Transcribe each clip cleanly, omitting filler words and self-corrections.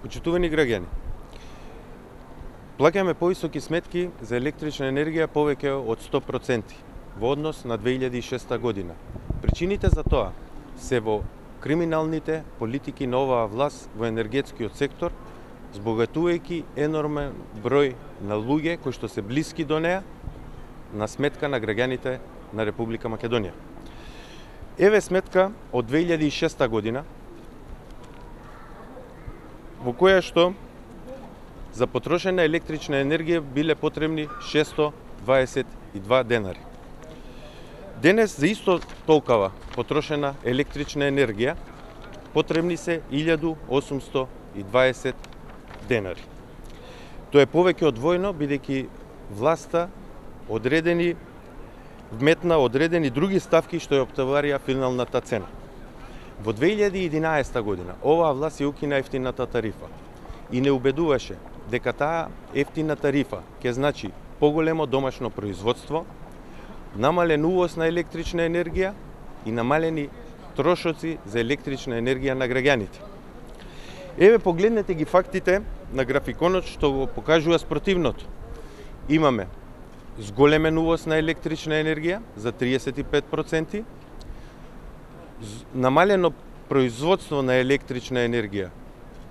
Почитувани граѓани, плаќаме повисоки сметки за електрична енергија повеќе од 100% во однос на 2006 година. Причините за тоа се во криминалните политики на оваа власт во енергетскиот сектор, збогатувајќи енормен број на луѓе кои што се блиски до неа на сметка на граѓаните на Република Македонија. Еве сметка од 2006 година во која што за потрошена електрична енергија биле потребни 622 денари. Денес за исто толкова потрошена електрична енергија потребни се 1820 денари. Тоа е повеќе од двојно, бидејќи власта вметна одредени други ставки што ја оптоварија финалната цена. Во 2011 година оваа власт ја укина ефтината тарифа и не убедуваше дека таа ефтина тарифа ќе значи поголемо домашно производство, намален увоз на електрична енергија и намалени трошоци за електрична енергија на граѓаните. Еве погледнете ги фактите на графиконот што го покажува спротивното. Имаме зголемен увоз на електрична енергија за 35%, намалено производство на електрична енергија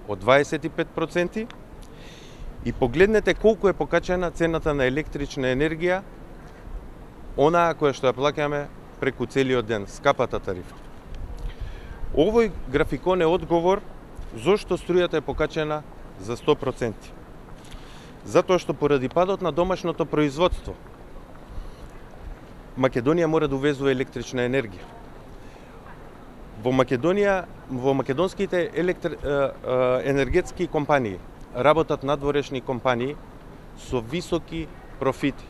од 25% и погледнете колку е покачена цената на електрична енергија, онаа која што ја плаќаме преку целиот ден, скапата тарифа. Овој графикон е одговор зошто струјата е покачена за 100%. Затоа што поради падот на домашното производство, Македонија мора да увезува електрична енергија. Во македонските енергетски компании работат надворешни компании со високи профити.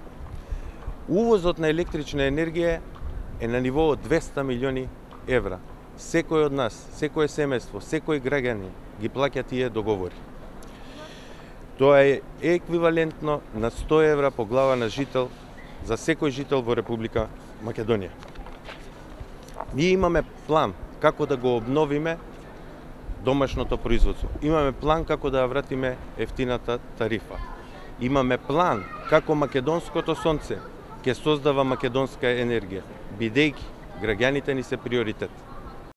Увозот на електрична енергија е на ниво од 200 милиони евра. Секој од нас, секој семејство, секој граѓанин ги плаќа тие договори. Тоа е еквивалентно на 100 евра по глава на жител за секој жител во Република Македонија. Ние имаме план како да го обновиме домашното производство. Имаме план како да ја вратиме ефтината тарифа. Имаме план како македонското сонце ќе создава македонска енергија, бидејќи граѓаните ни се приоритет.